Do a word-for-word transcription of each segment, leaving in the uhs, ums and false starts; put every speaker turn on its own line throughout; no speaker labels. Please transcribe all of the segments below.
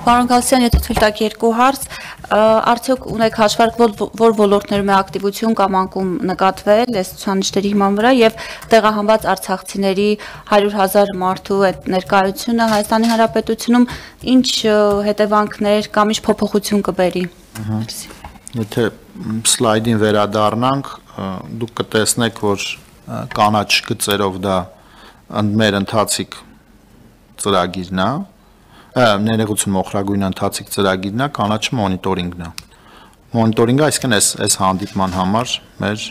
Պարոն Գալստյան, եթե թույլ տաք երկու հարց, արդյոք ունեք հաշվարկ, որ ոլորտներում է ակտիվություն կամ անկում նկատվել այս ցուցանիշների հիման վրա եւ տեղահանված արցախցիների հարյուր հազար մարդու այդ ներկայությունը Հայաստանի Հանրապետությունում ինչ հետևանքներ կամ ինչ փոփոխություն կբերի։
Եթե սլայդին վերադառնանք, դուք կտեսնեք, որ կանաչ գծերով դա մեր ընթացիկ ծրագիրն է, ներողություն մոխրագույն ընթացիկ ծրագիրն է, կանաչը մոնիտորինգն է։ Մոնիտորինգը այսինքն այս այս հանդիպման համար մեր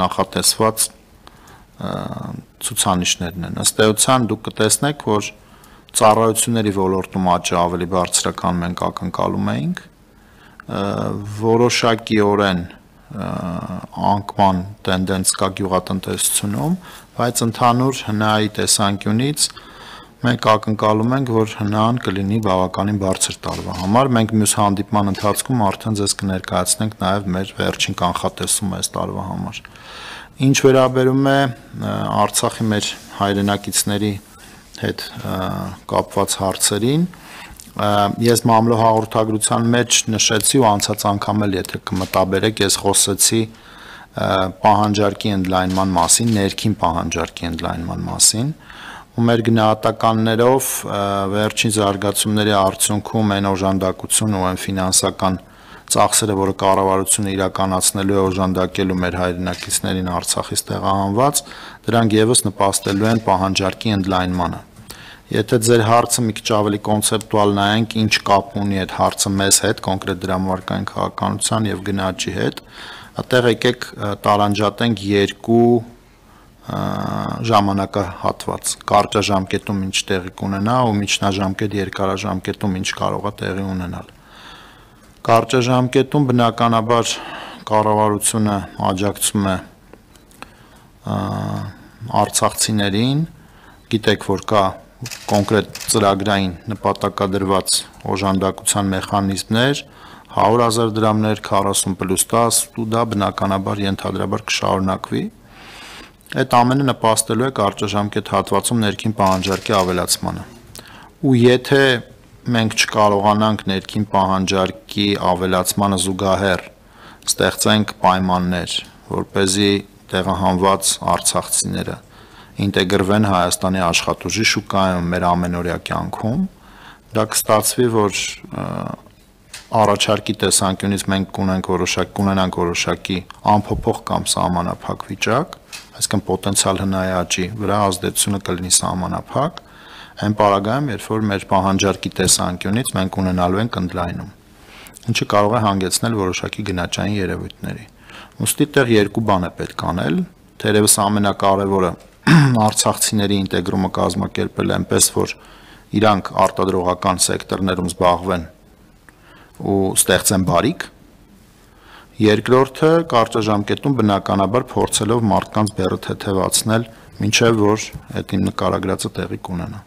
նախատեսված ցուցանիշներն են։ Ըստ էության դուք կտեսնեք, որ ծառայությունների ոլորտում աճը ավելի բարձր է, քան մենք ակնկալում էինք, որոշակիորեն անկման տենդենց կա գյուղատնտեսությունում, բայց ընդհանուր հնայի տեսանկյունից մենք ակնկալում ենք, որ հնան կլինի բավականին բարձր տարվա համար։ Մենք մյուս հանդիպման ընթացքում արդեն ձեզ կներկայացնենք նաև մեր վերջին կանխատեսումը այս տարվա համար։ Ինչ վերաբերում է Արցախի մեր հայրենակիցների հետ կապված հարցերին, ես մամլո հաղորդագրության մեջ նշեցի ու անցած անգամ էլ եթե կմտաբերեք, ես խոսեցի պահանջարկի ընդլայնման մասին, ներքին պահանջարկի ընդլայնման մասին, ու մեր գնահատականներով վերջին զարգացումների արդյունքում այն օժանդակությունը ու այն ֆինանսական ծախսերը, որը կառավարությունը իրականացնելու է օժանդակելու մեր հայրենակիցներին Արցախից տեղահանված, դրանք եւս նպաստելու են պահանջարկի ընդլայնմանը։ Եթե ձեր հարցը մի քիչ ավելի կոնցեպտուալ նայենք, ինչ կապ ունի այդ հարցը մեզ հետ, կոնկրետ դրամարկային քաղաքականության եւ գնաճի հետ, այդտեղ եկեք տարանջատենք երկու ժամանակահատված, կարճաժամկետում ինչ տեղի կունենա ու միջնաժամկետ երկարաժամկետում ինչ կարող է տեղի ունենալ։ Կարճաժամկետում բնականաբար կառավարությունը աջակցում է արցախցիներին, գիտեք, որ կա կոնկրետ ծրագրային նպատակադրված օժանդակության մեխանիզմներ, հարյուր հազար դրամներ, քառասուն պլյուս դաս, ու դա բնականաբար ենթադրաբար կշարունակվի։ Այդ ամենը նպաստելու է կարճաժամկետ հատվածում ներքին պահանջարկի ավելացմանը։ Ու եթե մենք չկարողանանք ներքին պահանջարկի ավելացմանը զուգահեռ ստեղծենք պայմաններ, որպեսզի տեղահանված արցախցիները ինտեգրվեն Հայաստանի աշխատուժի շուկայում մեր ամենօրյա կյանքում, դա կստացվի, որ առաջարկի տեսանկյունից մենք կունենք որոշակի կունենանք որոշակի անփոփոխ կամ սահմանափակ վիճակ, այսինքն պոտենցիալ հնայի աճի վրա ազդեցությունը կլինի սահմանափակ, այն պարագայում, երբ որ մեր պահանջարկի տեսանկյունից մենք ունենալու ենք ընդլայնում, ինչը կարող է հանգեցնել որոշակի գնաճային երևույթների։ Ուստի տեղ երկու բան է պետք անել, թերևս ամենակարևորը արցախցիների ինտեգրումը կազմակերպել այնպես, որ իրանք արտադրողական սեկտորներում զբաղվեն ու ստեղծեն բարիք։ Երկրորդը կարճաժամկետում բնականաբար փորձելով մարդկանց բեռը թեթևացնել, մինչև որ այդ իմ նկարագրածը տեղի կունենա։